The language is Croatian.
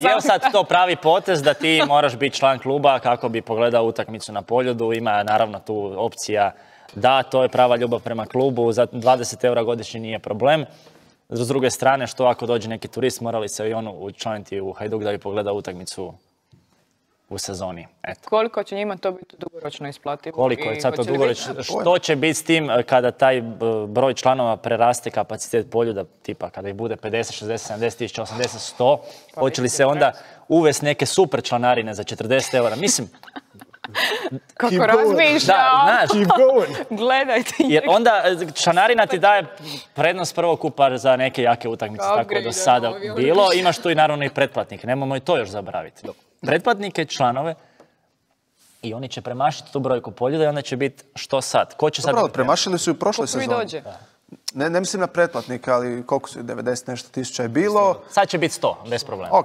Je li sad to pravi potez da ti moraš biti član kluba kako bi pogledao utakmicu na Poljudu? Ima naravno tu opcija da, to je prava ljubav prema klubu, za 20 eura godišnje nije problem. S druge strane, što ako dođe neki turist, morali se i on učlaniti u Hajduk da bi pogledao utakmicu u sezoni. Eto. Koliko će njima to biti dugoročno isplativo? Koliko je sad to dugoročno? Što će biti s tim kada taj broj članova preraste kapacitet Poljuda, tipa kada ih bude 50, 60, 70 tisuća, 80, 100, hoće li se onda uvesti neke super članarine za 40 eura? Mislim, kako razmišlja, gledajte. Jer onda članarina ti daje prednost prvokupa za neke jake utakmice, tako je do sada bilo. Imaš tu i naravno i pretplatnike, nemojmo i to još zaboraviti. Pretplatnike, članove, i oni će premašiti tu brojku Poljuda i onda će biti što sad? Ko će sad? Dobro, premašili su i u prošloj sezoni. Dođe. Ne mislim na pretplatnike, ali koliko su 90 nešto tisuća je bilo. Sad će biti 100, bez problema.